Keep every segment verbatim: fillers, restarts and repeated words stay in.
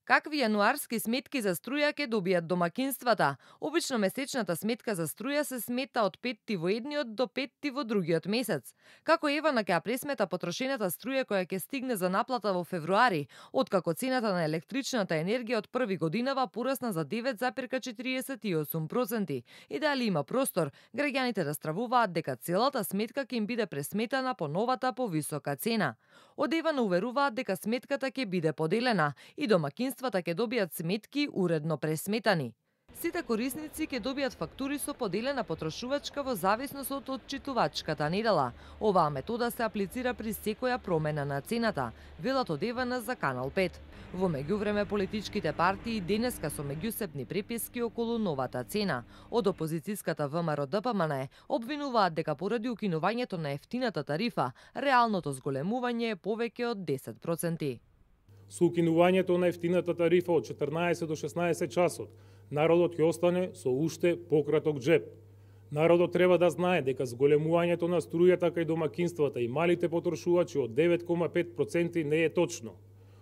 Какви јануарски сметки за струја ќе добијат домакинствата? Обично месечната сметка за струја се смета од петти во едниот до петти во другиот месец. Како Евана ќе ја пресмета потрошената струја која ќе стигне за наплата во февруари, откако цената на електричната енергија од први годинава порасна за девет зарез четириесет и осум проценти. И дали има простор, граѓаните растравуваат дека целата сметка ќе им биде пресметана по новата повисока цена. Од Евана уверуваат дека сметката ќе биде поделена и домакинствата ќе добијат сметки уредно пресметани. Сите корисници ќе добијат фактури со поделена потрошувачка во зависност од отчитувачката недела. Оваа метода се аплицира при секоја промена на цената, велат од Евана за Канал пет. Во меѓувреме политичките партии денеска со меѓусебни преписки околу новата цена. Од опозицијската ВМРО-ДПМН обвинуваат дека поради укинувањето на ефтината тарифа, реалното зголемување е повеќе од десет проценти. Со укинувањето на ефтината тарифа од четрнаесет до шеснаесет часот, народот ќе остане со уште пократок джеб. Народот треба да знае дека зголемувањето на струјата кај домакинствата и малите потрошувачи од девет зарез пет проценти не е точно.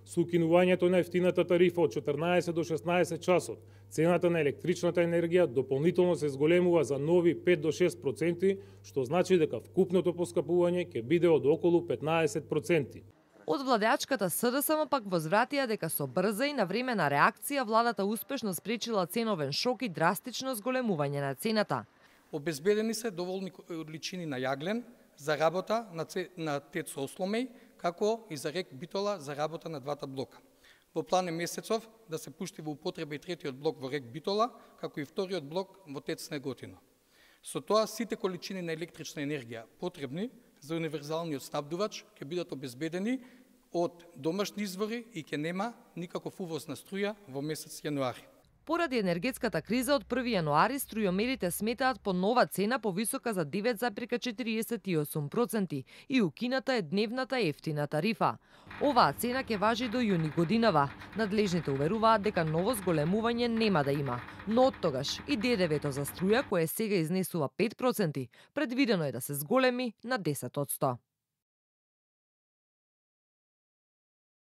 Со укинувањето на ефтината тарифа од четрнаесет до шеснаесет часот, цената на електричната енергија дополнително се зголемува за нови пет до шест проценти, што значи дека вкупното поскапување ќе биде од околу петнаесет проценти. Од владеачката СДСМ пак возвратија дека со брза и навремена реакција владата успешно спречила ценовен шок и драстично зголемување на цената. Обезбедени се доволни количини на јаглен за работа на, це... на ТЕЦ Осломеј, како и за РЕК Битола за работа на двата блока. Во план е месецов да се пушти во употреба и третиот блок во РЕК Битола, како и вториот блок во ТЕЦ Неготино. Со тоа сите количини на електрична енергија потребни за универзалниот снабдувач ќе бидат обезбедени од домашни извори и ќе нема никаков увоз на струја во месец јануари. Поради енергетската криза од први јануари струјомерите сметаат по нова цена повисока за девет зарез четириесет и осум проценти и укината е дневната ефтина тарифа. Оваа цена ќе важи до јуни годинава. Надлежните уверуваат дека ново зголемување нема да има, но оттогаш и ДДВ-то за струја, кое сега изнесува пет проценти, предвидено е да се зголеми на десет одсто.